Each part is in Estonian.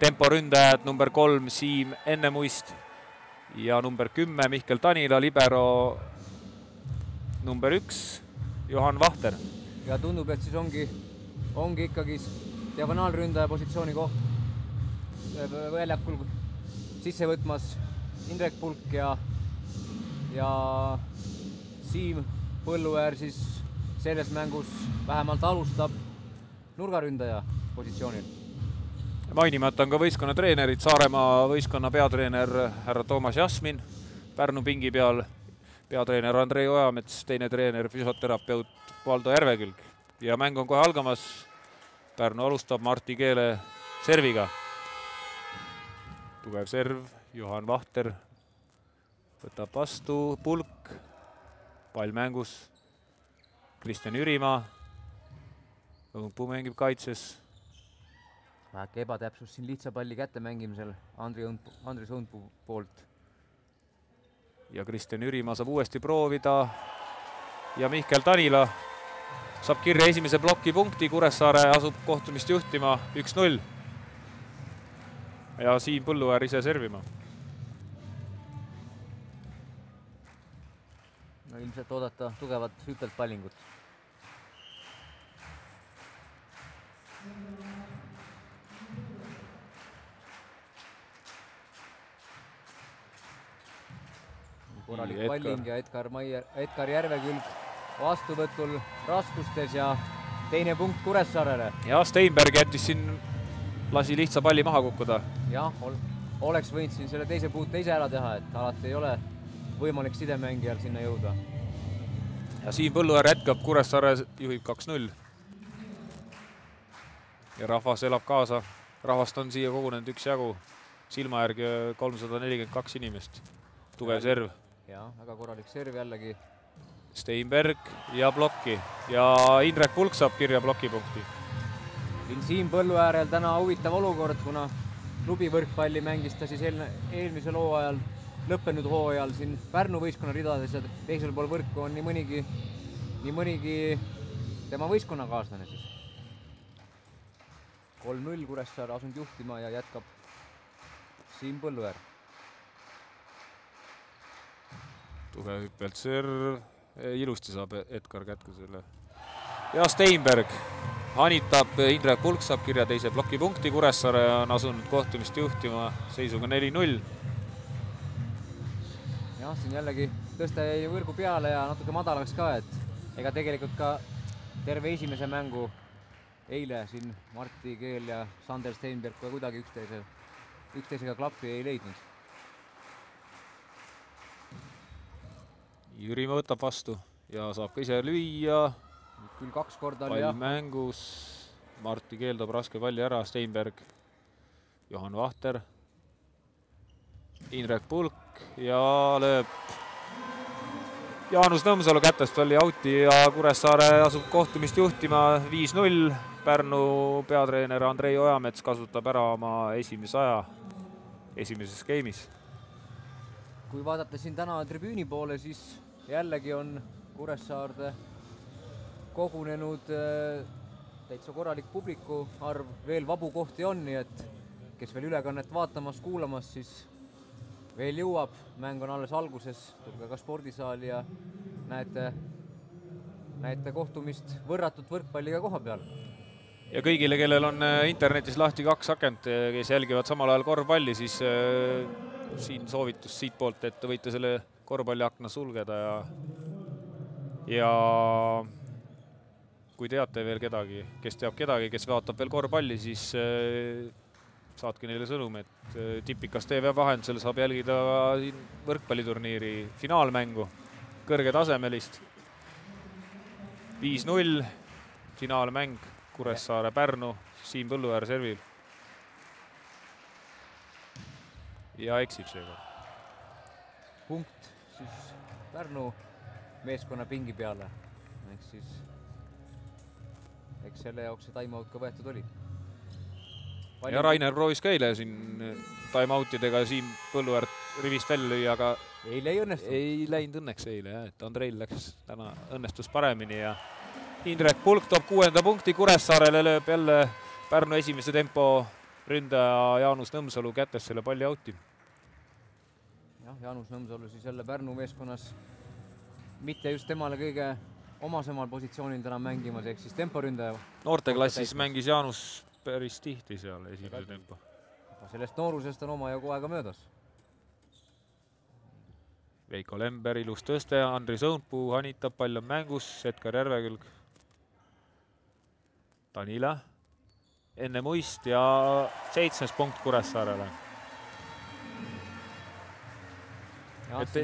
temporündajad number 3 Siim Ennemuist ja number 10 Mihkel Tanila, libero number 1 Johan Vahter. Ja tundub, et siis ongi ikkagi diagonaalründaja positsiooni koht väljakul sisse võtmas Indrek Pulk ja Siim Põlluäär siis selles mängus vähemalt alustab nurgaründaja positsioonil. Mainimata on ka võistkonna treenerid, Saaremaa võistkonna peatreener härra Toomas Jasmin, Pärnu pingi peal peatreener Andrei Ojamets, teine treener füsioterapeut Valdo Järvekülg. Ja mäng on kohe algamas. Pärnu alustab Martti Keele serviga. Tugev serv, Johan Vahter võtab vastu, Pulk, pall mängus, Kristjan Jürimaa, Õunpuu mängib kaitses. Väheke ebatäpsus siin lihtsa palli kätte mängimisel Andris Õunpuu poolt. Ja Kristjan Jürimaa saab uuesti proovida ja Mihkel Tanila saab kirja esimese ploki punkti, Kuressaare asub kohtumist juhtima 1-0. Ja Siim Põlluäär ise servima. No ilmselt oodata tugevat hüppelt pallingut. Korralik palling ja Edgar Järvekülg vastuvõtul raskustes ja teine punkt Kuressaarele. Ja Steinberg jättis siin, lasi lihtsa palli maha kukkuda. Jah, oleks võinud siin selle teise puute ise ära teha, et alati ei ole võimalik sidemängijal sinna jõuda. Ja Siim Põlluäär jätkab, Kuressaare juhib 2-0. Ja rahvas elab kaasa. Rahvast on siia kogunenud üksjagu. Silma järgi 342 inimest. Tugev serv. Ja, väga korralik serv jällegi. Steinberg ja blokki. Ja Indrek Pulk saab kirja blokipunkti. Siim Põlluäärel täna huvitav olukord, kuna klubi võrkpalli mängis ta siis eelmisel hooajal, lõppenud hooajal siin Pärnu võistkonna ridades ja teisel pool võrku on nii mõnigi tema võistkonnakaaslane siis. 3-0 Kuressaare asunud juhtima ja jätkab Siim Põlluäär. Tugev hüppelt serv, ilusti saab Edgar kätku selle. Ja Steinberg hanitab, Indrek Pulk saab kirja teise blokipunkti, Kuressaare on asunud kohtumist juhtima seisuga 4-0. Jah, siin jällegi tõste jäi võrgu peale ja natuke madalaks ka, et ega tegelikult ka terve esimese mängu eile siin Martti Keel ja Sander Steinberg ka kuidagi üksteisega klappi ei leidnud. Jürimaa võtab vastu ja saab ka ise lüüa. Küll 2 korda oli pall mängus. Martti Keel toob raske palli ära, Steinberg, Johan Vahter, Indrek Pulk ja lööb Jaanus Nõmsalu kätest oli outi ja Kuressaare asub kohtumist juhtima 5-0. Pärnu peatreener Andrei Ojamets kasutab ära oma esimese aja esimeses game'is. Kui vaadata siin täna tribüüni poole, siis jällegi on Kuressaarde kogunenud täitsa korralik publiku arv, veel vabu kohti on, nii et kes veel ülekannet vaatamas, kuulamas, siis veel jõuab. Mäng on alles alguses, tulge ka spordisaali ja näete kohtumist võrratut võrkpalliga koha peal. Ja kõigile, kellel on internetis lahti 2 akent, kes jälgivad samal ajal korvpalli, siis siin soovitus siit poolt, et võite selle korvpalliakna sulgeda ja kui teate veel kedagi, kes teab kedagi, kes vaatab veel korvpalli, siis saatke neile sõnum, et Tipikas TV vahendusel saab jälgida võrkpalliturniiri finaalmängu, kõrgetasemelist. 5-0, finaalmäng, Kuressaare Pärnu, Siim Põlluäär servib. Ja eksib seega. Punkt siis Pärnu meeskonna pingi peale. Eks selle jaoks see time-out ka võetud oli. Ja Rainer proovis ka eile siin time-outidega Siim Põlluäär rivist välja lüüa, aga eile ei õnnestunud. Ei läinud õnneks eile, et Andreil läks täna õnnestus paremini ja Indrek Pulk toob 6. punkti Kuressaarele, lööb jälle Pärnu esimese tempo ründaja Jaanus Nõmsalu kätes selle palli out'i. jah, Jaanus Nõmsalu siis jälle Pärnu meeskonnas mitte just temale kõige omasemal positsioonil täna mängimas, ehk siis temporündaja. Noorteklassis mängis Jaanus päris tihti seal esimese tempo. Sellest noorusest on omajagu aega möödas. Veiko Lember, ilus tõste, Andri Sõunpuu hanitab, pall on mängus, Edgar Järvekülg. Danila enne muist ja 7. punkt Kuressaarele.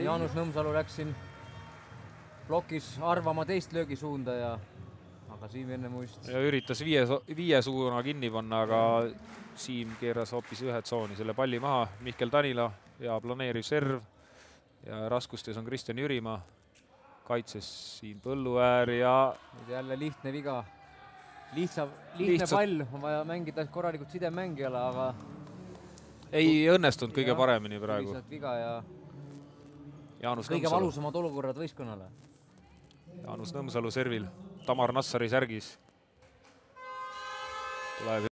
Jaanus Nõmsalu läks siin plokis arvama teist löögisuunda ja aga Siim enne muist. Ja üritas viie suuna kinni panna, aga Siim keeras hoopis ühe tsooni selle palli maha. Mihkel Danila ja planeeriv serv ja raskustes on Kristjan Jürimaa. Kaitses Siim Põlluäär ja jälle lihtne viga. Lihtne pall, on vaja mängida korralikult sidemängijale, aga ei õnnestunud kõige paremini praegu. Viga ja Jaanus kõige Nõmsalu. valusamad olukorrad võistkonnale. Jaanus Nõmsalu servil, Tamar Nassari särgis. Tuleb